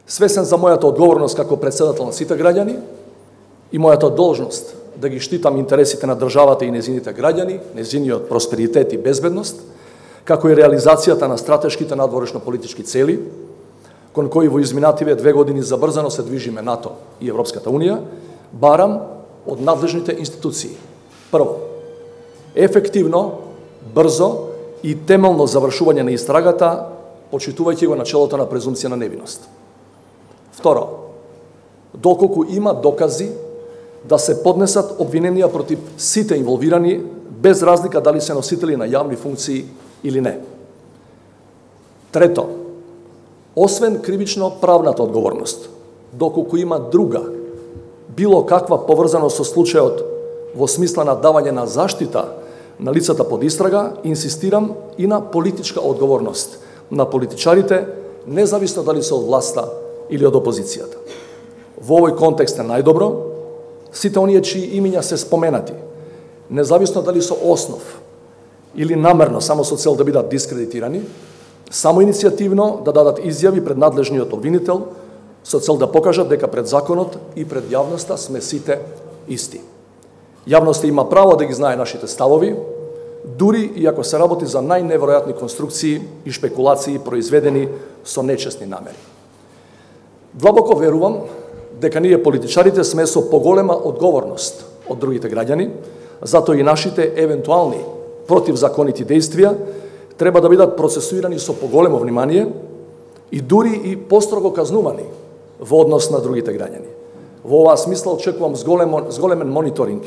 Свесен за мојата одговорност како председател на сите граѓани и мојата должност да ги штитам интересите на државата и незините граѓани, незиниот просперитет и безбедност, како и реализацијата на стратешките надворешно-политички цели, кон кои во изминативе 2 години забрзано се движиме НАТО и Европската Унија, барам од надлежните институции. Прво, ефективно, брзо и темелно завршување на истрагата, почитувајќи го начелото на презумпција на невиност. Второ, доколку има докази да се поднесат обвиненија против сите инволвирани, без разлика дали се носители на јавни функции или не. Трето, освен кривично правната одговорност, доколку има друга, било каква поврзаност со случајот во смисла на давање на заштита на лицата под истрага, инсистирам и на политичка одговорност на политичарите, независно дали се од власта или од опозицијата. Во овој контекст е најдобро сите оние чии имиња се споменати, независно дали со основ или намерно само со цел да бидат дискредитирани, само иницијативно да дадат изјави пред надлежниот обвинител со цел да покажат дека пред законот и пред јавноста сме сите исти. Јавноста има право да ги знае нашите ставови, дури и ако се работи за најневеројатни конструкции и шпекулации произведени со нечесни намери. Длабоко верувам дека ние политичарите сме со поголема одговорност од другите граѓани, затоа и нашите евентуални противзаконити действија треба да бидат процесуирани со поголемо внимание и дури и построго казнувани во однос на другите граѓани. Во оваа смисла очекувам зголемен мониторинг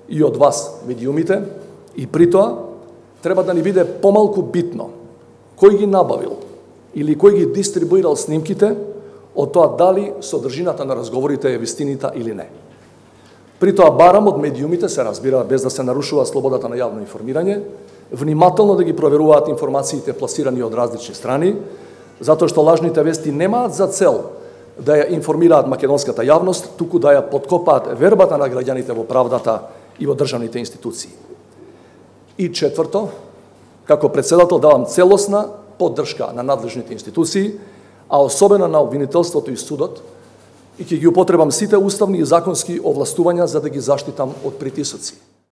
и од вас, медиумите, и при тоа треба да ни биде помалку битно кој ги набавил или кој ги дистрибуирал снимките од тоа дали содржината на разговорите е вистинита или не. При тоа барам од медиумите, се разбира, без да се нарушува слободата на јавно информирање, внимателно да ги проверуваат информациите пласирани од различни страни, затоа што лажните вести немаат за цел да ја информираат македонската јавност, туку да ја подкопаат вербата на граѓаните во правдата и во државните институции. И четврто, како председател давам целосна поддршка на надлежните институции, а особено на обвинителството и судот, и ќе ги употребам сите уставни и законски овластувања за да ги заштитам од притисоци.